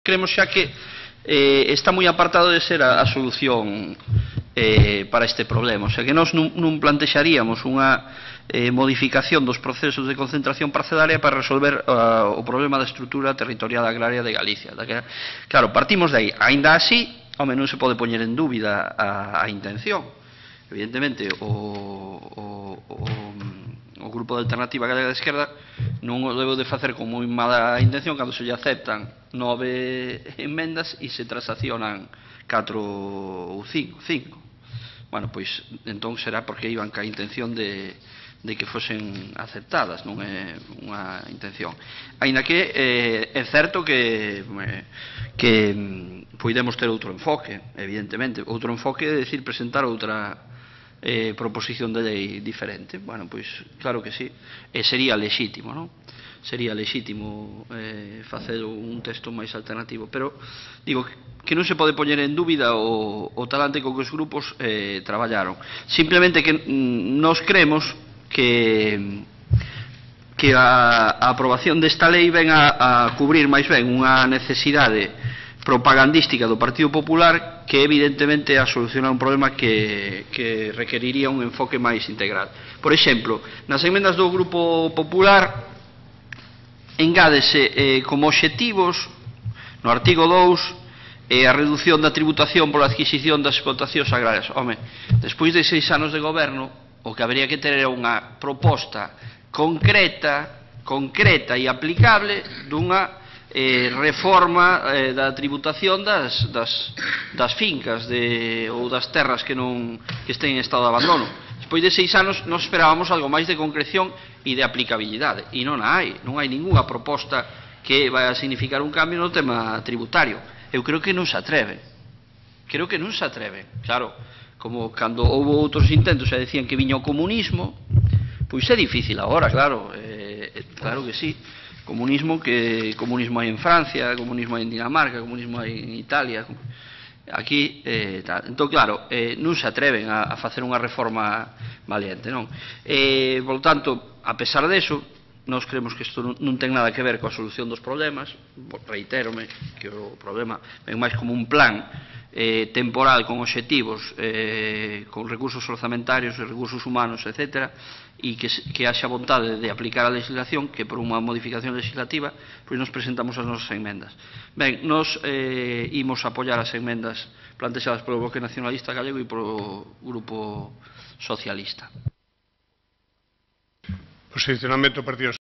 creemos xa que está moi apartado de ser a solución para este problema. O sea, que nós non plantexaríamos unha modificación dos procesos de concentración parcelaria para resolver o problema da estrutura territorial agraria de Galicia. Claro, partimos de aí. Aínda así, home, non se pode poñer en dúbida a intención. Evidentemente, o Grupo de Alternativa Galega de Esquerda non o debo de facer con moi mala intención cando se lle aceptan 9 enmendas e se transaccionan 4 ou 5. Bueno, pois entón será porque iban ca intención de que fosen aceptadas, non é unha intención. Aínda que é certo que podemos ter outro enfoque, evidentemente. Outro enfoque é decir, presentar outra proposición de lei diferente. Bueno, pois claro que sí, e sería lexítimo, non? Sería lexítimo facer un texto máis alternativo, pero digo que non se pode poñer en dúbida o talante co que os grupos traballaron. Simplemente que nos creemos que a aprobación desta lei ven a cubrir máis ben unha necesidade propagandística do Partido Popular que evidentemente a solucionar un problema que requeriría un enfoque máis integral. Por exemplo, nas emendas do Grupo Popular engádese como obxectivos no artigo 2 a reducción da tributación pola adquisición das explotacións agrarias. Home, despois de 6 anos de goberno, o que habría que ter era unha proposta concreta e aplicable dunha reforma da tributación das fincas ou das terras que estén en estado de abandono. Despois de 6 anos nos esperábamos algo máis de concreción e de aplicabilidade, e non hai ningunha proposta que vai a significar un cambio no tema tributario. Eu creo que non se atreven. Claro, como cando houve outros intentos e decían que viña o comunismo, pois é difícil agora, claro, claro que sí. Comunismo hai en Francia, comunismo hai en Dinamarca, comunismo hai en Italia, aquí, entón, claro, non se atreven a facer unha reforma valiente, non? Por tanto, a pesar deso, nós creemos que isto non ten nada que ver coa solución dos problemas, reitérome que o problema ven máis como un plan temporal con obxectivos, con recursos orzamentarios e recursos humanos, etc., e que haxa vontade de aplicar a legislación, que por unha modificación legislativa, pois nos presentamos as nosas enmendas. Ben, nos imos apoiar as enmendas plantexadas polo Bloque Nacionalista Galego e polo Grupo Socialista. Posicionamento do Partido